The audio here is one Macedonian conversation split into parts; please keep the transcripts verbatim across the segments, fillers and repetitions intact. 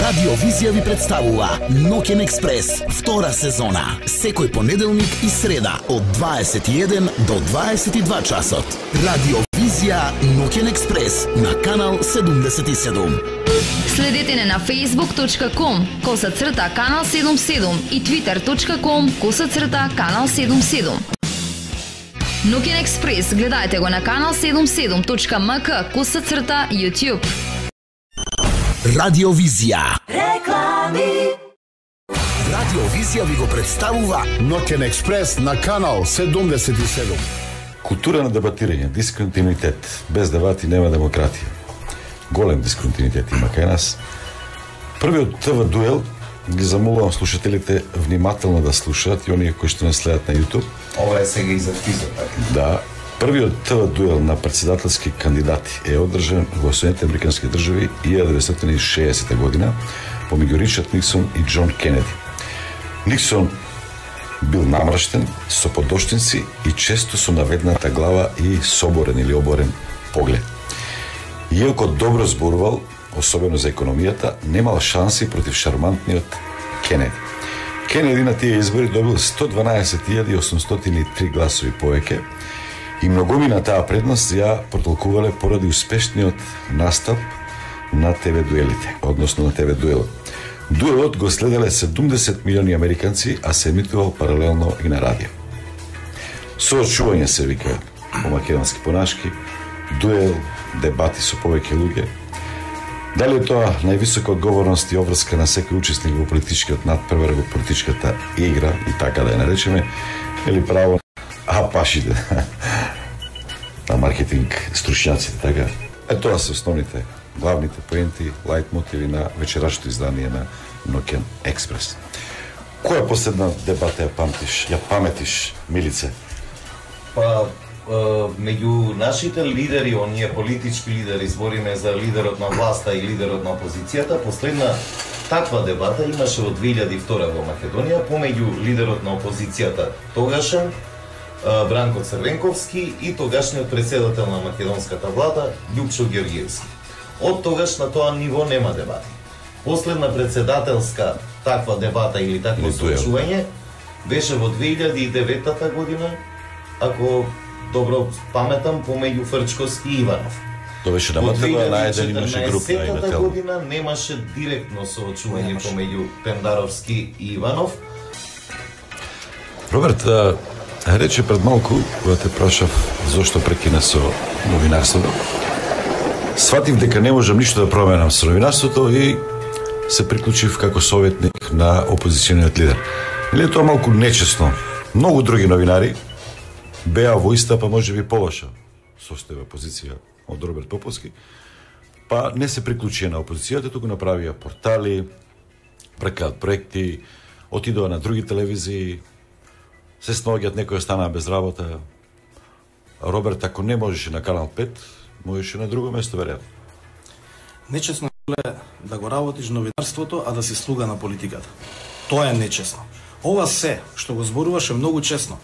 Радио Визија ви представува Ноќен експрес, втора сезона. Секој понеделник и среда од дваесет и еден до дваесет и два часот. Радио Визија Ноќен експрес на канал седумдесет и седум. Следете не на facebook точка com коса црта канал седумдесет и седум и twitter точка com коса црта канал седумдесет и седум. Ноќен експрес гледајте го на канал седумдесет и седум точка ем ка коса црта YouTube. Радио Визија. Реклами. Радио Визија ви го представува Ноќен експрес на канал седумдесет и седум. Култура на дебатирање, дисконтинуитет. Без дебати нема демократија. Голем дисконтинуитет има кај нас. Првиот ТВ дуел ги замолувам слушателите внимателно да слушаат и оние кои што не следат на YouTube. Ова е сега и за физот, така? Да. Првиот ТВ дуел на претседателски кандидати е одржан во Соединетите американски држави илјада деветстотини и шеесета година помеѓу Ричард Никсон и Џон Кенеди. Никсон бил намрштен, со подоштинци и често со наведната глава и соборен или оборен поглед. Иако добро зборувал, особено за економијата, немал шанси против шармантниот Кенеди. Кенеди на тие избори добил сто дванаесет илјади осумстотини и три гласови повеќе и многумина таа предност ја протолкувале поради успешниот настап на ТВ дуелите, односно на ТВ дуелот. Дуелот го следеле седумдесет милиони американци, а се емитувал паралелно и на радио. Соочување се вика по македонски понашки, дуел, дебати со повеќе луѓе. Дали е тоа највисока одговорност и обврска на секој учесник во политичкиот надпревар, во политичката игра и така да ја наречеме, или право а пашите на маркетинг стручњаците, така. Е тоа се основните, главните поенти, лајт мотиви на вечерашното издание на Ноќен експрес. Која последна дебата ја памтиш, ја паметиш, Милице? Па, меѓу нашите лидери, оние политички лидери, збориме за лидерот на власта и лидерот на опозицијата, последна таква дебата имаше во две илјади и втора во Македонија помеѓу лидерот на опозицијата тогашен Бранко Црвенковски и тогашниот председател на македонската влада Љупчо Ѓорѓиевски. Од тогаш на тоа ниво нема дебати. Последна председателска таква дебата или такво соочување беше во две илјади и девета година, ако добро паметам, помеѓу Фрчковски и Иванов. Тоа беше на МТВ, на еден имаше група и на Во година немаше директно соочување помеѓу Пендаровски и Иванов. Роберт, рече пред малку, кога те прашав зошто прекина со новинарството, сватив дека не можам ништо да променам со новинарството и се приклучив како советник на опозициониот лидер. Или е тоа малку нечесно? Многу други новинари беа во иста, па може би полоша состојба позиција од Роберт Поповски, па не се приклучија на опозицијата, туку направија портали, прекаат проекти, отидоа на други телевизии, се снаоѓаат, некои останаа без работа. Роберт, ако не можеше на Канал пет, можеше на друго место, веројатно. Нечесно е да го работиш новинарството, а да си слуга на политиката. Тоа е нечесно. Ова се, што го зборуваше многу честно.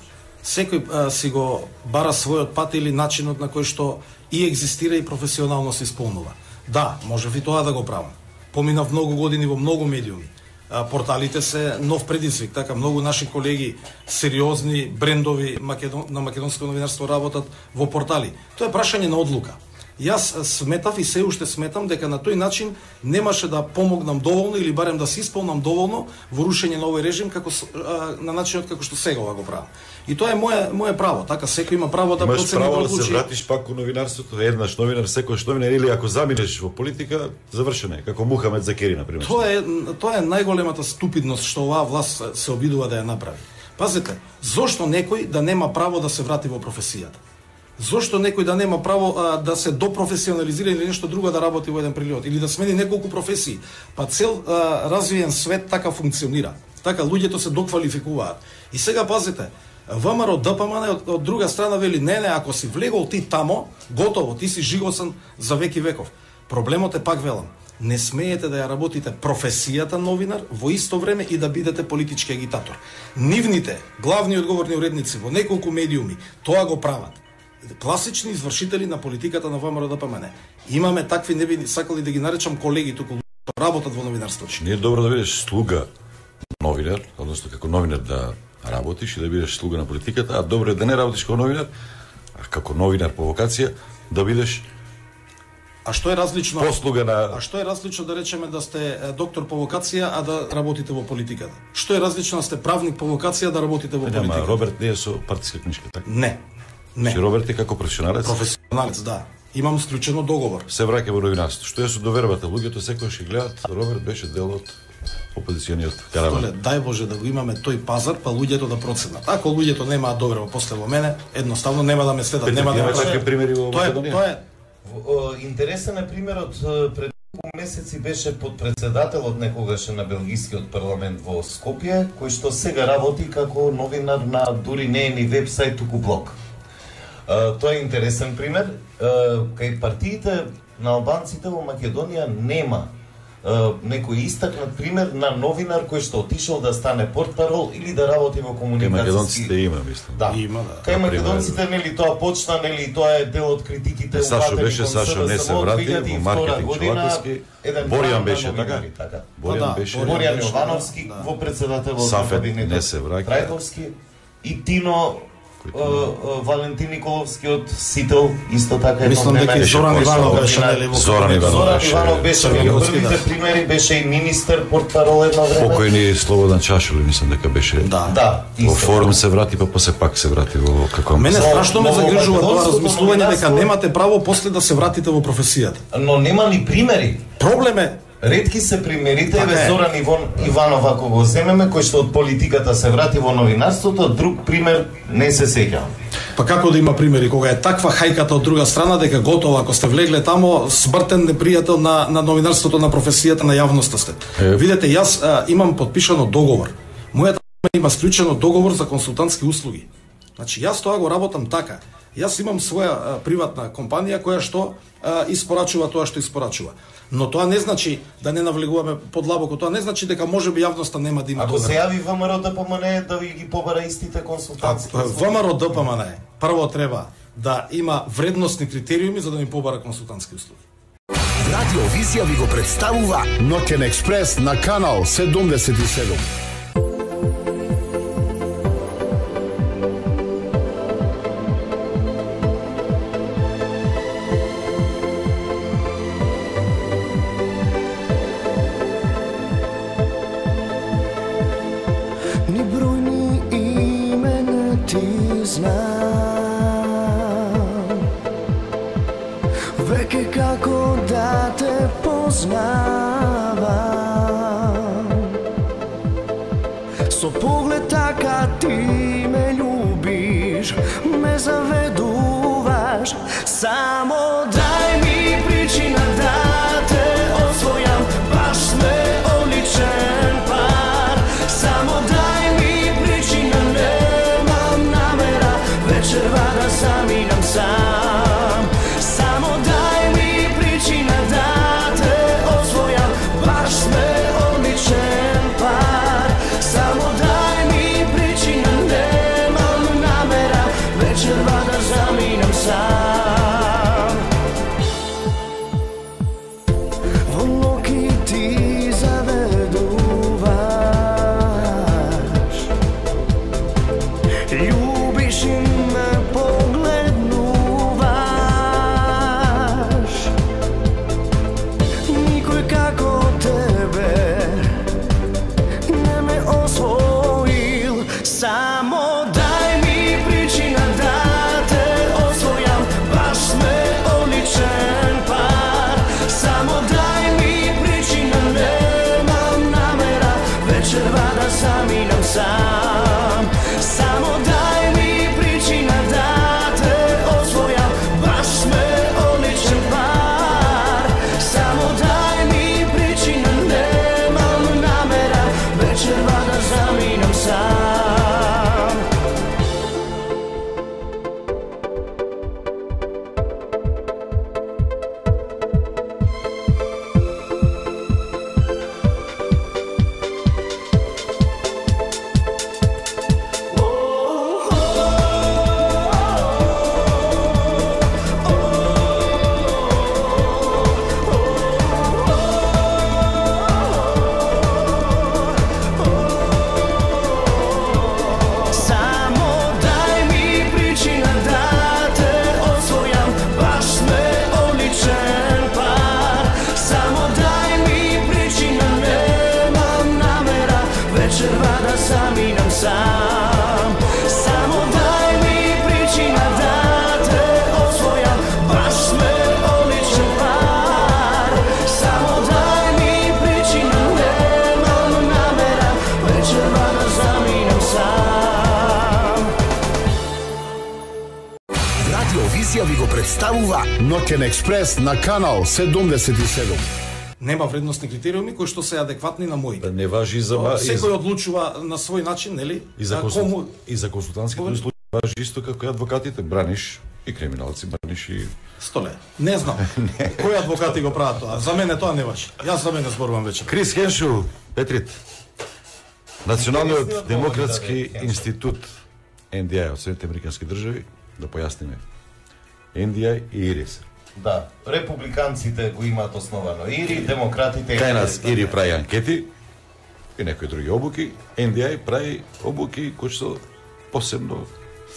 Секој а, си го бара својот пат или начинот на кој што и екзистира и професионално се исполнува. Да, можев и тоа да го правам. Поминав многу години во многу медиуми. А, порталите се нов предизвик, така многу наши колеги сериозни брендови македон, на македонско новинарство работат во портали. Тоа е прашање на одлука. Јас сметав и се уште сметам дека на тој начин немаше да помогнам доволно или барем да се исполнам доволно во рушење на овој режим како на начинот како што сега го правам. И тоа е моје моје право, така секој има право да процени право да да се вратиш пак во новинарството, еднаш новинар, секојаш новинар, или ако заминеш во политика, завршено е, како Мухамед Закери на пример. Тоа е тоа е најголемата ступидност што оваа власт се обидува да ја направи. Пазете, зошто некој да нема право да се врати во професијата? Зошто некој да нема право а, да се допрофесионализира или нешто друго да работи во еден период или да смени неколку професии? Па цел а, развиен свет така функционира. Така луѓето се доквалификуваат. И сега пазите, ВМРО ДПМН од, од друга страна вели не, не, ако си влегол ти тамо, готово, ти си жигосан за веки веков. Проблемот е, пак велам, не смеете да ја работите професијата новинар во исто време и да бидете политички агитатор. Нивните главни одговорни уредници во неколку медиуми тоа го прават. Класични извршители на политиката на ВМРО ДПМН. Имаме такви, не би сакали да ги наречам колеги туку што работат во новинарството. Не е добро да бидеш слуга новинар, односно како новинар да работиш и да бидеш слуга на политиката, а добро е да не работиш како новинар, а како новинар по вокација да бидеш А што е различно? Послуга на А што е различно да речеме да сте доктор по вокација, а да работите во политиката? Што е различно да сте правник по вокација, да работите во политиката? Нема, Роберт не е со партиска книжка, така? Не. Не. Че Роберт е како професионалец? Професионалец, да. Имам склучено договор. Се враќа во новинарството. Што е со довербата? Луѓето секогаш ќе гледаат, Роберт беше дел од опозициониот караван. Столе, дај Боже да го имаме тој пазар, па луѓето да проценат. Ако луѓето немаат доверба после во мене, едноставно нема да ме следат, нема да ме такви примери во Тоа е, Македонија. тоа е Интересен е примерот, пред неколку месеци беше подпредседателот некогаше на белгискиот парламент во Скопје, кој што сега работи како новинар на дури не е ни вебсајт, туку блог. Тоа е интересен пример. Кај партиите на албанците во Македонија нема некој истакнат пример на новинар кој што отишол да стане портпарол или да работи во Кај комуникацијски... македонците има, мислам. Да. Има, да. Кај македонците, нели, тоа почна, нели, тоа е дел од критиките Сашо упатени беше, кон Сашо не СДСМ се од врати две илјади и во втора маркетинг година, Чолаковски. еден Боријан план на беше така? новинари, така. Боријан да, беше. Боријан Боријан беше, Јовановски да. во председателот на Сафет кабинетот не се враќа. Трајковски и Тино е, е, Валентин Николовски од Сител, исто така едно Мислам дека и време. Зоран Беше Иванов посло. беше нели во Зоран кабинетот. Иванов Зоран беше Иванов беше меѓу Црвенковски, првите да. примери, беше и министер, портпарол едно време. Покојни Слободан Чашули, мислам дека беше. Да. Да, Во исто. форум се врати, па после пак се врати во како Мене Но- страшно ме но во загрижува тоа македонското размислување дека новинарство- немате право после да се вратите во професијата. Но нема ни примери. Проблем е Ретки се примерите, Така еве е. Зоран Ивон Иванов ако го земеме, кој што од политиката се врати во новинарството, друг пример не се сеќавам. па како да има примери кога е таква хајката од друга страна дека готово ако сте влегле тамо смртен непријател на на новинарството, на професијата, на јавноста сте. Е. Видете, јас а, имам подпишано договор. Мојата има склучено договор за консултантски услуги. Значи јас тоа го работам така. Јас имам своја а, приватна компанија која што а, испорачува тоа што испорачува. Но тоа не значи да не навлегуваме подлабоко, тоа не значи дека можеби јавноста нема да има Ако се доверба. јави ВМРО ДПМН да ви ги побара истите А, консултантски. ВМРО ДПМН прво треба да има вредносни критериуми за да ми побара консултантски услуги. Радио Визија ви го представува Ноќен експрес на канал седумдесет и седум. Ни бројни имена ти знам, веќе како да те познавам. Со поглед така ти ме љубиш, ме заведуваш. Само дај ми причина да те освојам, баш сме одличен пар. Само дај ми причина, немам намера вечерва да заминам сам. Само дај ми причина да те освојам, баш сме одличен пар. Само дај ми причина, немам намера вечерва да заминам сам. сам. Само дај ми причина да те освојам, баш сме одличен пар. Само дај ми причина, немам намера вечерва да заминем сам. Радио Визија ви го представува Ноќен експрес на канал седумдесет и седум. Нема вредносни критериуми кои што се адекватни на моите. Да не важи и за Тоа, ма- и Секој за- одлучува на свој начин, нели? и за А консул- кому и за консултантските Кому- услуги важи исто како и адвокатите, браниш и криминалци, браниш и столе? Не знам. Кои адвокати го прават тоа? За мене тоа не важи. Јас за мене зборувам вечер. Крис Хеншел, Петрит, Националниот демократски институт Ен Ди Ај од Соединетите американски држави, да појасниме. Ен Ди Ај и ИРИС. Да, републиканците го имаат основано ИРИ, демократите... Кај нас ИРИ прави анкети и некои други обуки, Ен Ди Ај прави обуки кои што посебно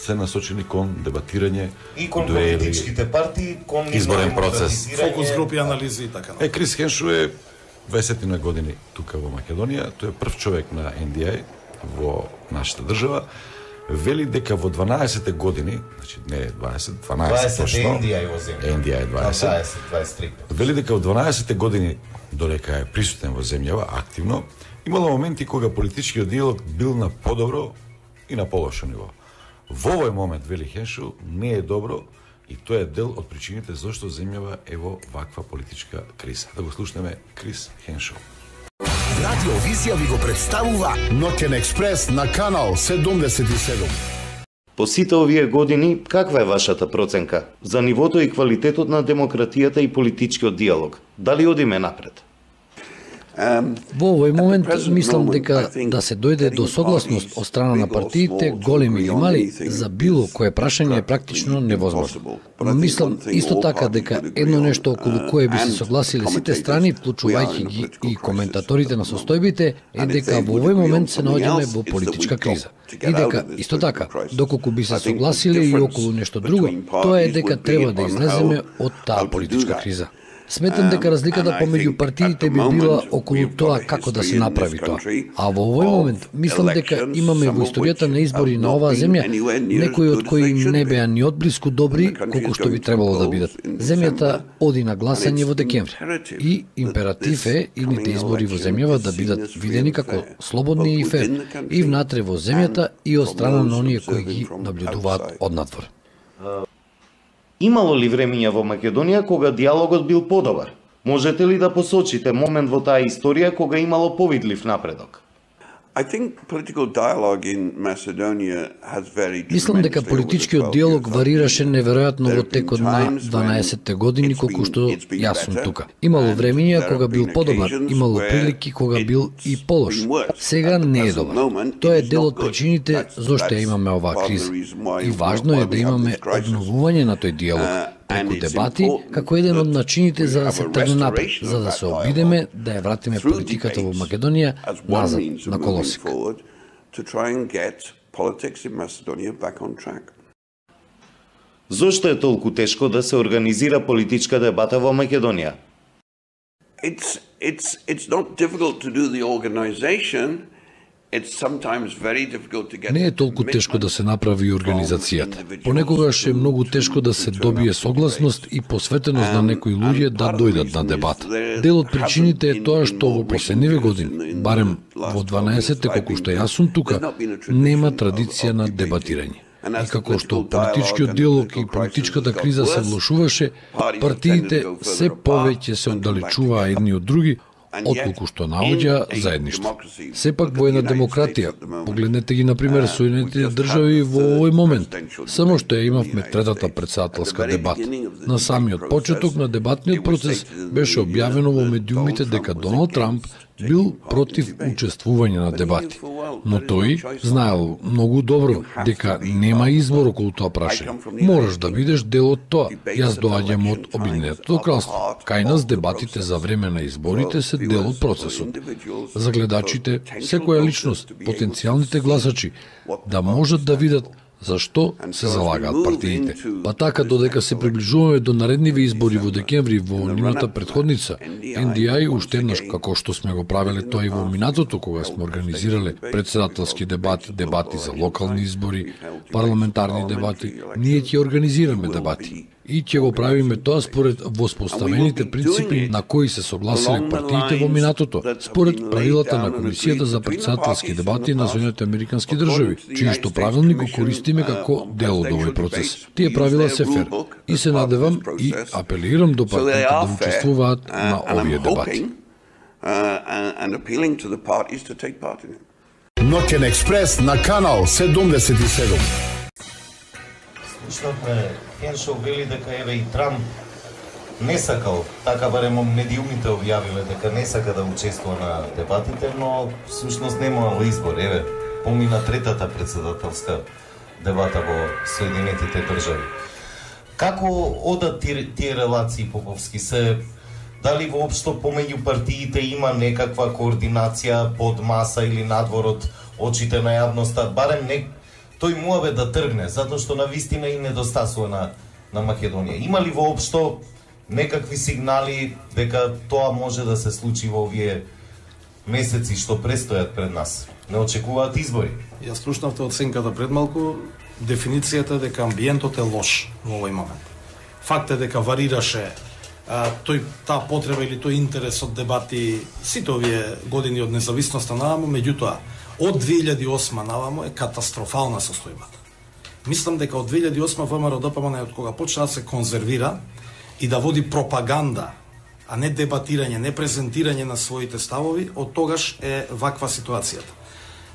се насочени кон дебатирање, и кон дуели. политичките партии, кон Изборен процес. демократизирање. Фокус групи анализи и така. Е, Крис Хеншел е дваесет на години тука во Македонија, тој е прв човек на Ен Ди Ај во нашата држава. Вели дека во дванаесет години, значи не дваесет, дванаесет дваесет точно. Ен Ди Ај во земја. Ен Ди Ај дваесет. дваесет, дваесет и три. Вели дека во дванаесет години, додека е присутен во земјава активно, имало моменти кога политичкиот диалог бил на подобро и на полошо ниво. Во овој момент, вели Хеншел, не е добро и тоа е дел од причините зашто земјава е во ваква политичка криза. Да го слушнеме Крис Хеншел. Радио Визија ви го представува Ноќен експрес на канал седумдесет и седум. По сите овие години, каква е вашата проценка за нивото и квалитетот на демократијата и политичкиот диалог? Дали одиме напред? Во овој момент мислам дека да се дојде до согласност од страна на партиите, големи или мали, за било кое прашање е практично невозможно. Но мислам исто така дека едно нешто околу кое би се согласиле сите страни, вклучувајќи ги и коментаторите на состојбите, е дека во овој момент се наоѓаме во политичка криза. И дека, исто така, доколку би се согласиле и околу нешто друго, тоа е дека треба да излеземе од таа политичка криза. Сметам дека разликата помеѓу партиите би била околу тоа како да се направи тоа. А во овој момент мислам дека имаме во историјата на избори на оваа земја некои од кои не беа ни одблиску добри колку што би требало да бидат. Земјата оди на гласање во декември и императив е идните избори во земјава да бидат видени како слободни и фер и внатре во земјата и од страна на оние кои ги наблюдуваат однадвор. Имало ли времиња во Македонија кога диалогот бил подобар? Можете ли да посочите момент во таа историја кога имало повидлив напредок? Мислам дека политичкиот диалог варираше неверојатно во текот на дванаесетте години колку што јас сум тука. Имало времиња кога бил подобар, имало прилики кога бил и полош. Сега не е добар. Тоа е дел од причините зошто ја имаме оваа криза. И важно е да имаме обновување на тој диалог преку дебати, како еден од начините за да се тргне напред, за да се обидеме да ја вратиме политиката во Македонија назад на колосик. Зошто е толку тешко да се организира политичка дебата во Македонија? It's it's it's not difficult to do the organization. Не е толку тешко да се направи организацијата. Понекогаш е многу тешко да се добие согласност и посветеност на некои луѓе да дојдат на дебата. Дел од причините е тоа што во последниве години, барем во дванаесетте колку што јас сум тука, нема традиција на дебатирање. И како што политичкиот диалог и политичката криза се влошуваше, партиите се повеќе се оддалечуваа едни од други, отколку што наоѓа заедништво. Сепак во една демократија, погледнете ги например Соединетите држави во овој момент, само што ја имавме третата претседателска дебата. На самиот почеток на дебатниот процес беше објавено во медиумите дека Доналд Трамп бил против учествување на дебати. Но тој знаел многу добро дека нема избор околу тоа прашање. Мораш да бидеш дел од тоа. Јас доаѓам од Обединетото кралство. Кај нас дебатите за време на изборите се дел од процесот. За гледачите, секоја личност, потенцијалните гласачи, да можат да видат Зашто се залагаат партиите? Па така, додека се приближуваме до наредниви избори во декември во нивната предходница, Ен Ди Ај уште еднаш, како што сме го правеле тоа и во минатото, кога сме организирале председателски дебати, дебати за локални избори, парламентарни дебати, ние ќе организираме дебати. И ќе го правиме тоа според воспоставените принципи на кои се согласиле партиите во минатото, според правилата на Комисијата за председателски дебати на Соединетите Американски држави, чиј што правилник го користиме како дел од овој процес. Тие правила се фер и се надевам и апелирам до партиите да учествуваат на овие дебати. Ноќен експрес на канал седумдесет и седум. Слушнавме, Хеншоу вели дека еве и Трамп не сакал, така барем медиумите објавиле дека не сака да учествува на дебатите, но всушност немало избор. Еве, помина третата председателска дебата во Соединетите држави. Како одат тие, тие релации, Поповски? Се дали воопшто помеѓу партиите има некаква координација под маса или надвор од очите на јавноста, барем не тој муабе да тргне, затоа што на вистина и недостасува на, на Македонија. Има ли воопшто некакви сигнали дека тоа може да се случи во овие месеци што престојат пред нас? Не очекуваат избори? Ја слушнавте оценката пред малку, дефиницијата дека амбиентот е лош во овој момент. Факт е дека варираше а, тој таа потреба или тој интерес од дебати сите овие години од независноста наваму, меѓутоа од две илјади и осма наваму е катастрофална состојбата. Мислам дека од две илјади и осма ВМРО Д П М Н од кога почна да се конзервира и да води пропаганда, а не дебатирање, не презентирање на своите ставови, од тогаш е ваква ситуацијата.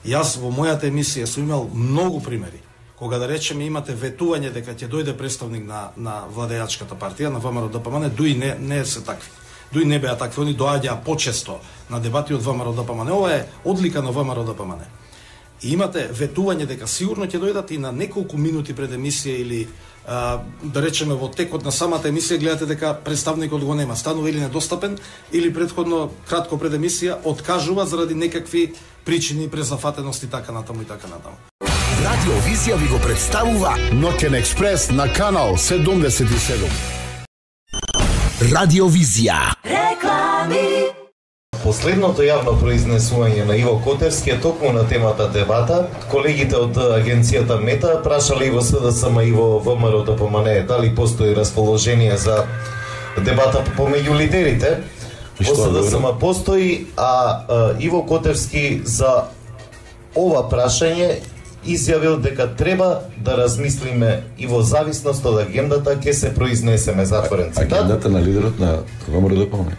Јас во мојата емисија сум имал многу примери, кога да речеме имате ветување дека ќе дојде представник на, на владеачката партија, на ВМРО Д П М Н, дуи не, не се такви. Дуи не беа такви, они доаѓаа почесто на дебати од ВМРО Д П М Н. Ова е одлика на ВМРО Д П М Н. И имате ветување дека сигурно ќе дојдат и на неколку минути пред емисија или а, да речеме во текот на самата емисија гледате дека представникот го нема, станува или недостапен или претходно кратко пред емисија откажува заради некакви причини, презафатеност и така натаму и така натаму. Радио Визија ви го представува Ноќен експрес на канал седумдесет и седум. Радио Визија. Реклами. Последното јавно произнесување на Иво Котевски е токму на темата дебата. Колегите од агенцијата Мета прашале и во С Д С М и во В М Р Д П М Н дали постои расположение за дебата помеѓу лидерите. Во С Д С М постои, а, а Иво Котевски за ова прашање изјавил дека треба да размислиме и во зависност од агендата ќе се произнесеме, затворен цитат. Агендата на лидерот на В М Р Д П М Н.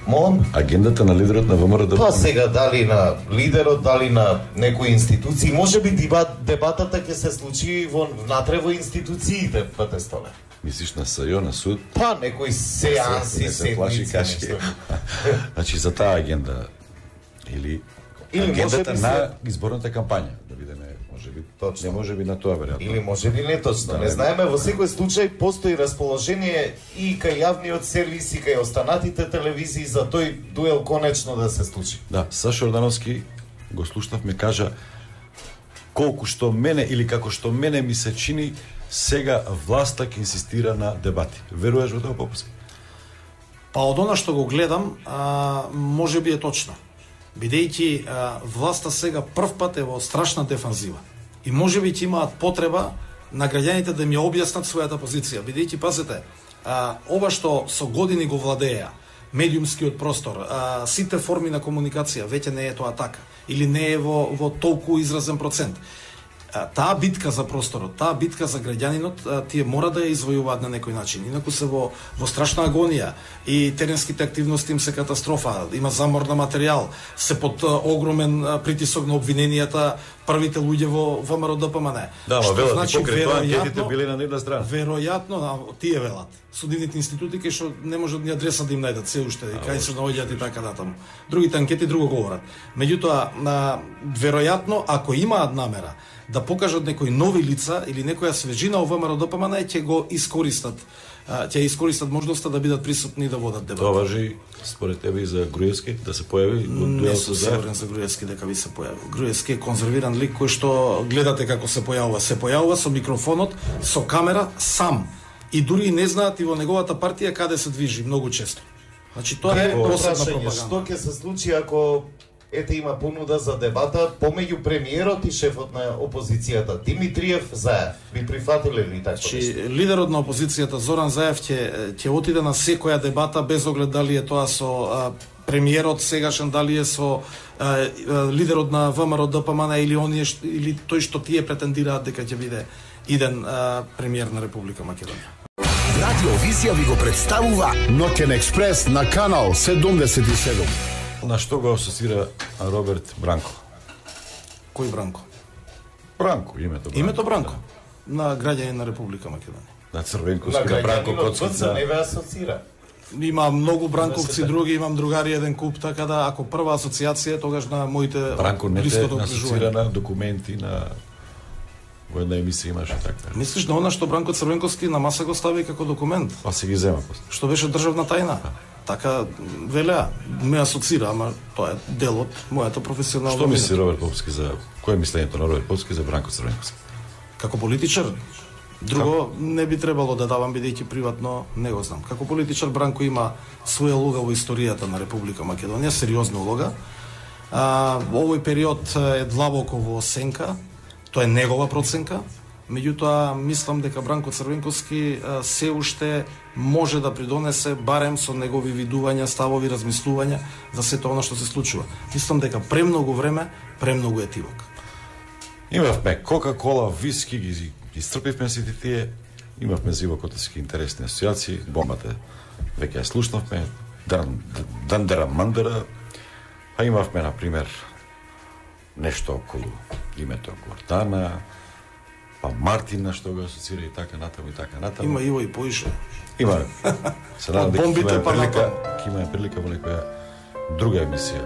Мон? Агендата на лидерот на В М Р Д П М Н. Па сега дали на лидерот, дали на некои институции, може би дебат, дебатата ќе се случи во внатре во институциите, Патестоле. Мислиш на С Ј О, на суд? Па некои сеанси, не се плаши кашки. Значи за таа агенда или, или агендата на се... изборната кампања, да видиме, може би точно. Не може би на тоа веројатно. Или може би не точно. Да, не знаеме, во секој случај постои расположение и кај јавниот сервис и кај останатите телевизии за тој дуел конечно да се случи. Да, Сашо Ордановски го слушнавме, кажа колку што мене или како што мене ми се чини сега власта ќе инсистира на дебати. Веруваш во тоа, Поповски? Па од она што го гледам, а, може би е точно. Бидејќи власта сега прв пат е во страшна дефанзива. И може би ќе имаат потреба на граѓаните да ми ја објаснат својата позиција. Бидејќи, пазете, а, ова што со години го владеја, медиумскиот простор, а, сите форми на комуникација, веќе не е тоа така. Или не е во, во толку изразен процент. Таа битка за просторот, таа битка за граѓанинот, тие мора да ја извојуваат на некој начин. Инаку се во, во страшна агонија и теренските активности им се катастрофа, има замор на материјал, се под огромен притисок на обвиненијата првите луѓе во В М Р Д П М Н. Да, ма велат, значи, покри тоа анкетите биле на нивна страна. Веројатно, тие велат. Судивните институти кај што не можат ни адреса да им најдат се уште, и кај се наоѓаат и така натаму. Другите анкети друго говорат. Меѓутоа, веројатно, ако имаат намера да покажат некои нови лица или некоја свежина во В М Р Д П М Н, ќе го искористат ќе искористат можноста да бидат присутни и да водат дебата. Тоа важи според тебе и за Груевски да се појави во Не дуел сум со Заев? сигурен за Груевски дека би се појавил. Груевски е конзервиран лик кој што гледате како се појавува. Се појавува со микрофонот, со камера, сам. И дури и не знаат и во неговата партија каде се движи многу често. Значи тоа е досадна пропаганда. Што ќе се случи ако ете има понуда за дебата помеѓу премиерот и шефот на опозицијата Димитриев Заев? Би прифатиле ли така Чи нешто? лидерот на опозицијата Зоран Заев ќе ќе отиде на секоја дебата без оглед дали е тоа со а, премиерот сегашен, дали е со а, а, лидерот на ВМРО ДПМН или оние ш- или тој што тие претендираат дека ќе биде иден а, премиер на Република Македонија. Радио Визија ви го представува Ноќен експрес на канал седумдесет и седум. На што го асоцира Роберт Бранко? Кој Бранко? Бранко, името Бранко. Името Бранко на граѓанин на Република Македонија. На На Црвенковски, на Бранко граѓанинот БЦ Коцкица. не ве асоцира. Има многу бранковци други, имам другари еден куп, така да ако прва асоциација е тогаш на моите Бранко не те блиското асоцира окружување. на документи, на во една емисија имаше така. Мислиш на она што Бранко Црвенковски на маса го стави како документ, Па се ги зема после. што беше државна тајна? Така велеа, ме асоцира, ама тоа е дел од мојата професионална Што мисли мина. Роберт Поповски за кој е мислењето на Роберт Поповски за Бранко Црвенковски? Како политичар? Друго не би требало да давам бидејќи приватно не го знам. Како политичар Бранко има своја улога во историјата на Република Македонија, сериозна улога. А, овој период е длабоко во сенка, тоа е негова проценка. Меѓутоа, мислам дека Бранко Црвенковски а, се уште може да придонесе барем со негови видувања, ставови, размислувања за сето она што се случува. Мислам дека премногу време, премногу етивок. Имавме Кока-кола, виски, ги iscrpivме сите тие, имавме зивокотски интересни асоциации, бомбата веќе ја слушнавме, дан, Дандера Мандера, а имавме, например, нешто околу името Гордана, па Мартина што го асоцира и така натаму и така натаму. Има Иво и поише. Има. Се надам дека ќе Бомбите имаме па прилика, натаму. ќе имаме прилика во некоја друга емисија.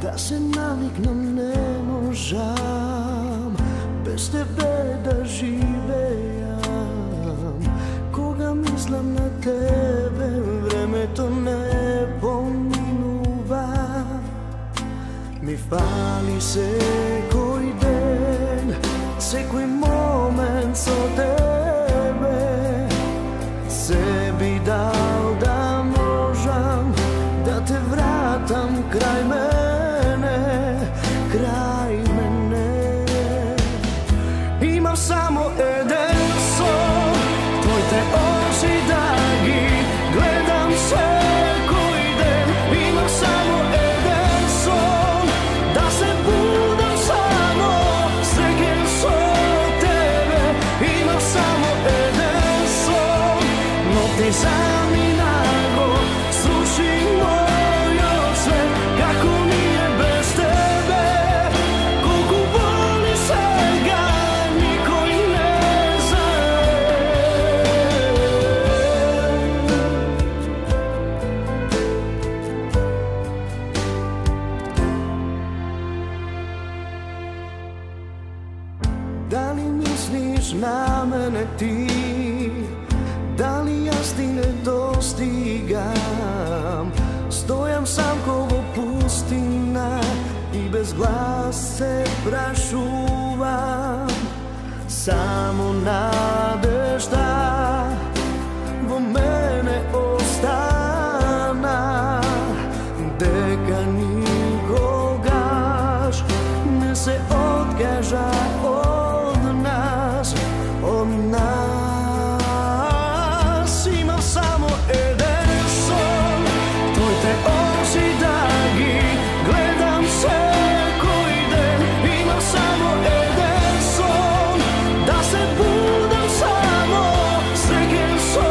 Да се навикнам не можам, без тебе да живеам. Кога мислам на тебе, времето не поминува. Ми фали секој ден, секој момент со тебе. Се би дал да можам да те вратам крај мене, крај мене. Имам само еден сон, твоите очи да ги гледам секој ден. Имам само еден сон, да се будам само среќен со тебе. Имам само еден сон, но ти заминаго, слуши мојот свет, како ми е без тебе. Колку боли сега, никој не знае. Дали мислиш на мене ти? Дали јас ти не достигам? Стојам сам ко во пустина и без глас се прашувам. Само надежда во мене остана, дека никогаш не се откажа од нас, од нас. Имам само еден сон, твоите очи да ги гледам секој ден. Имам само еден сон, да се будам само среќен со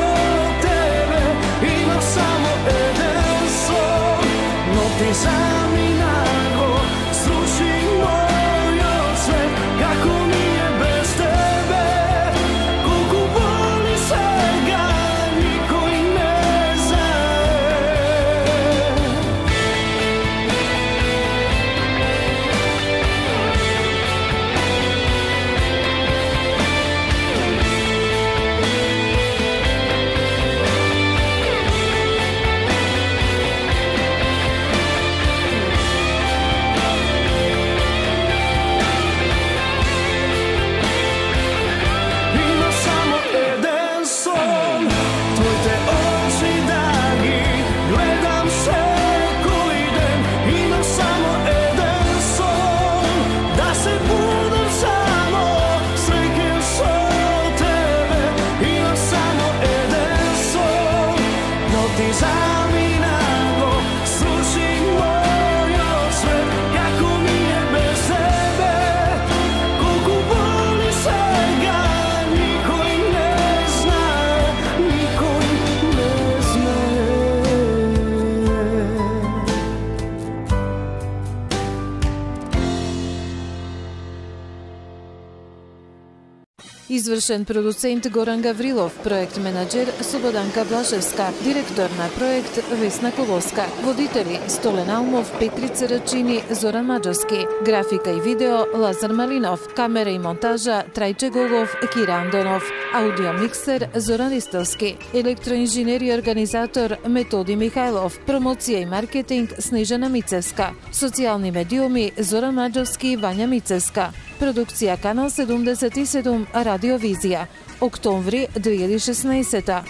тебе. Имам само еден сон, но ти заминаго, слуши мојот свет, како ми е без тебе. Колку Извршен продуцент Горан Гаврилов, проект менаџер Слободанка Блашевска, директор на проект Весна Колоска, водители Столен Алмов, Петрица Рачини, Зоран Маџарски, графика и видео Лазар Малинов, камера и монтажа Трајче Голов, Кира Андонов, аудио миксер Зоран Ристовски, електроинженер и организатор Методи Михајлов, промоција и маркетинг Снежана Мицевска, социјални медиуми Зоран Маџарски и Вања Мицевска, продукција Канал седумдесет и седум Радиовизија, октомври две илјади и шеснаесета.